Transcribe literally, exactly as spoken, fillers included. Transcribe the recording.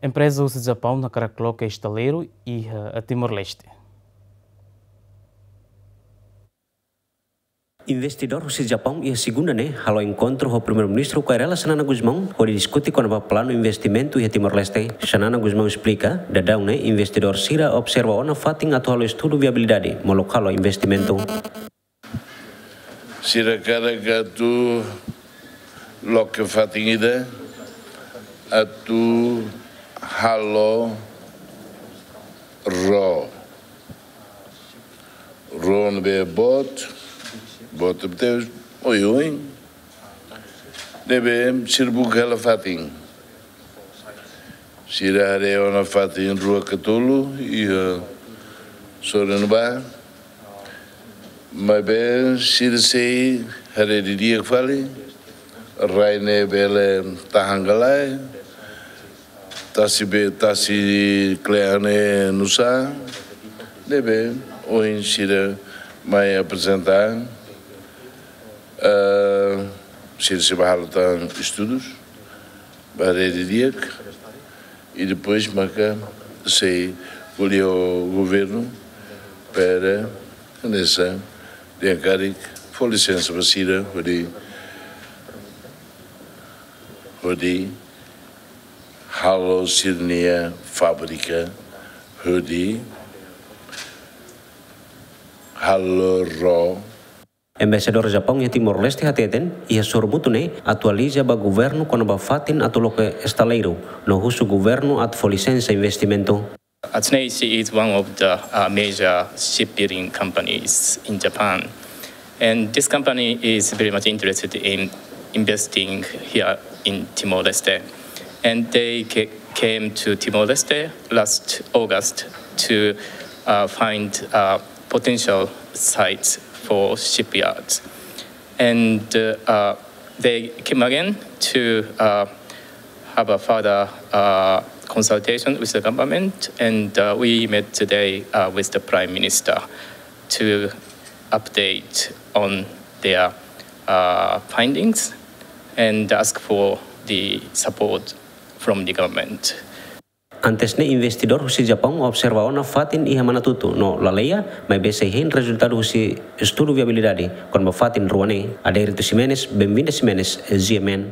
Empreza husi Japaun hakarak loke estaleiru iha Timor-Leste. Investidór husi Japaun iha segunda ne'e halo enkontru ho Primeiru-Ministru Kay Rala Xanana Gusmão hodi diskute kona-ba planu investimentu iha Timor-Leste. Xanana Gusmão esplika, daudaun ne'e investidór sira observa ona fatin atu halo estudu viabilidade molok halo investimentu. Sira hakarak atu loke fatin ida atu halo ró. Ró ne'ebé boot, boot tebes, oioin. Ne'ebé sira buka hela fatin. Sira haree ona fatin rua ka tolu iha sorin ne'ebá. Maibé sira sei haree didi'ak fali, rai ne'e bele tahan ka lae, tasi be, tasi kle'an ne'e nusá, ne'ebé ohin sira mai aprezenta, ah, sira sei bá halo tan estudus, bá haree didi'ak, i depois maka sei ko'alia ho governu, para hanesan dehan karik fó lisensa ba sira, hodi, hodi halo sira-nia fábrika, hodi halo ró. Embaixadór Japaun iha Timor-Leste hateten, iha sorumutu ne'e atualiza ba governu kona-ba fatin atu loke estaleiru, no husu governu atu fó lisensa investimentu. Atsuneishi is one of the uh, major shipbuilding companies in Japan. And this company is very much interested in investing here in Timor-Leste. And they ca- came to Timor-Leste last August to uh, find uh, potential sites for shipyards. And uh, uh, they came again to uh, have a further uh, consultation with the government, and uh, we met today uh, with the Prime Minister to update on their uh, findings and ask for the support from the government. Antes ne'e investidór husi Japaun observa ona fatin iha Manatutu no Laleya, maibé sei hein rezultadu husi estudu viabilidade kona-ba fatin rua ne'e. Adérito Ximenes, Benvinda Ximenes, G M N.